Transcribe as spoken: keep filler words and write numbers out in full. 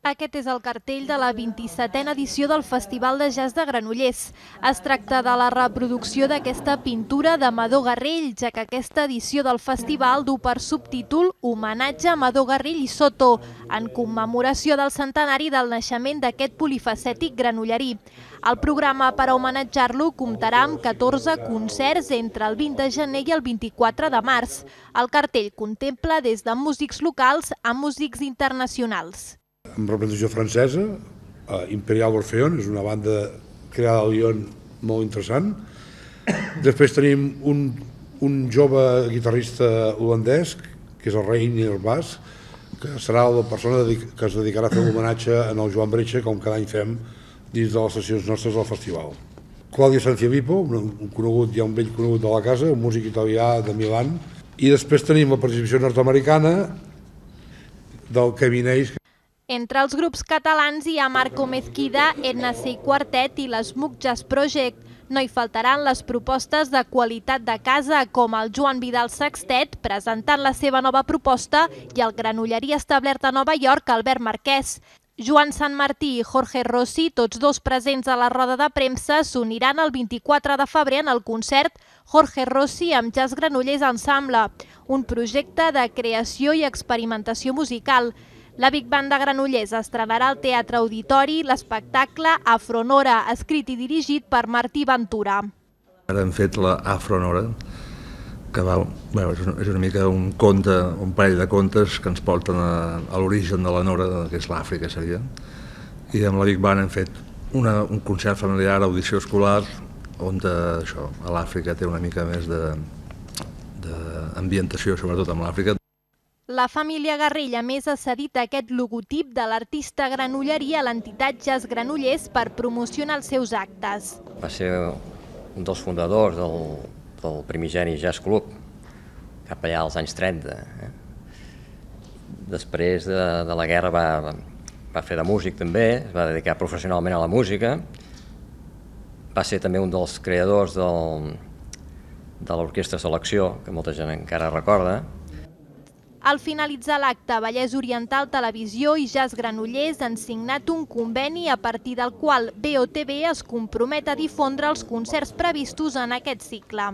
Aquest és el cartell de la vint-i-setena edició del Festival de Jazz de Granollers. Es tracta de la reproducció d'aquesta pintura d'Amador Garrell, ja que aquesta edició del festival du per subtítol Homenatge a Amador Garrell i Soto, en commemoració del centenari del naixement d'aquest polifacètic granollerí. El programa per a homenatjar-lo comptarà amb catorze concerts entre el vint de gener i el vint-i-quatre de març. El cartell contempla des de músics locals a músics internacionals. Amb representació francesa, Imperial Orpheon, és una banda creada a Lyon molt interessant. Després tenim un, un jove guitarrista holandès, que és el Reinier Bas, que serà la persona que es dedicarà a fer l'homenatge en el Joan Bretxa, com cada any fem dins de les sessions nostres del festival. Claudio Sanciavipo, un conegut, ja un vell conegut de la casa, un músic italià de Milan. I després tenim la participació nord-americana del Kevin Hayes. Entre els grups catalans hi ha Marco Mezquida, Edna Sey Quartet i l'Smook Jazz Project. No hi faltaran les propostes de qualitat de casa, com el Joan Vidal Sextet, presentant la seva nova proposta, i el granollerí establert a Nova York, Albert Marquès. Joan Sanmartí i Jorge Rossi, tots dos presents a la roda de premsa, s'uniran el vint-i-quatre de febrer en el concert Jorge Rossi amb Jazz Granollers Ensemble, un projecte de creació i experimentació musical. La Big Band de Granollers estrenarà al Teatre Auditori l'espectacle Afronora, escrit i dirigit per Martí Ventura. Ara hem fet la Afronora, que va, bueno, és una mica un conte, un parell de contes que ens porten a, a l'origen de la Nora, que és l'Àfrica, seria. I amb la Big Band hem fet una, un concert familiar, audició escolar, on de, això, a l'Àfrica té una mica més d'ambientació, sobretot amb l'Àfrica. La família Garrell, a més, ha cedit aquest logotip de l'artista granollerí a l'entitat Jazz Granollers per promocionar els seus actes. Va ser un dels fundadors del, del primigeni Jazz Club, cap allà als anys trenta. Eh? Després de, de la guerra va, va fer de músic també, es va dedicar professionalment a la música. Va ser també un dels creadors del, de l'Orquestra Selecció, que molta gent encara recorda. Al finalitzar l'acte, Vallès Oriental Televisió i Jazz Granollers han signat un conveni a partir del qual B O T B es compromet a difondre els concerts previstos en aquest cicle.